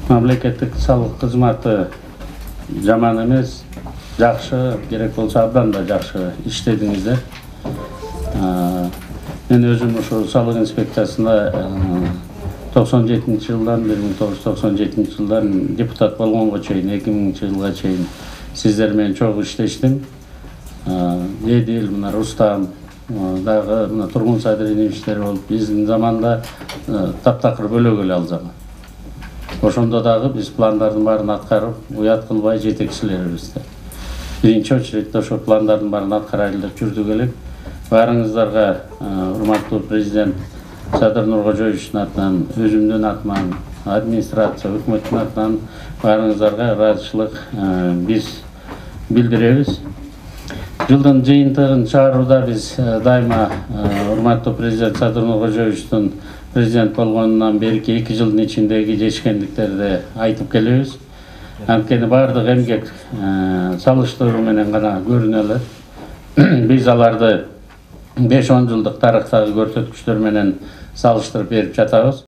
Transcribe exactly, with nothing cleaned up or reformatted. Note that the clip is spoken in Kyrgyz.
Мамлекеттик салык кызматы жаман эмес, жакшы, керек болсо абдан да жакшы иштедиңиздер. Мен өзүм ошо салык инспекциясында токсон жетинчи жылдан бир миң тогуз жүз токсон жетинчи жылдан депутат болгонго чейин эки миңинчи жылга чейин сиздер менен чогуу иштештим. Эдил, мына Рустам дагы мына Тургун Садыринин иштери болуп, биздин заманда таптакыр бөлөгө эле ал заман. Ошондо дагы биз пландардын баарын аткарып, уят кылбай жетекчилерибизди. Биринчи очередде ошо пландардын баарын аткарайлы деп жүрдүк элек. Баарыңыздарга урматтуу президент Садыр Нуркожоевичтин атынан, өзүмдүн атыман, администрация, өкмөттүн атынан баарыңыздарга ыраазычылык биз билдиребиз. Жылдын жыйынтыгын чыгарууда биз дайыма урматтуу президент Садыр Нуркожоевичтин президент болгонунан берки эки жылдын ичиндеги жетишкендиктерди айтып келебиз. Анткени баардык эмгек салыштыруу менен гана көрүнө алат. Биз аларды беш он жылдык тарыхтагы көрсөткүчтөр менен салыштырып берип жатабыз.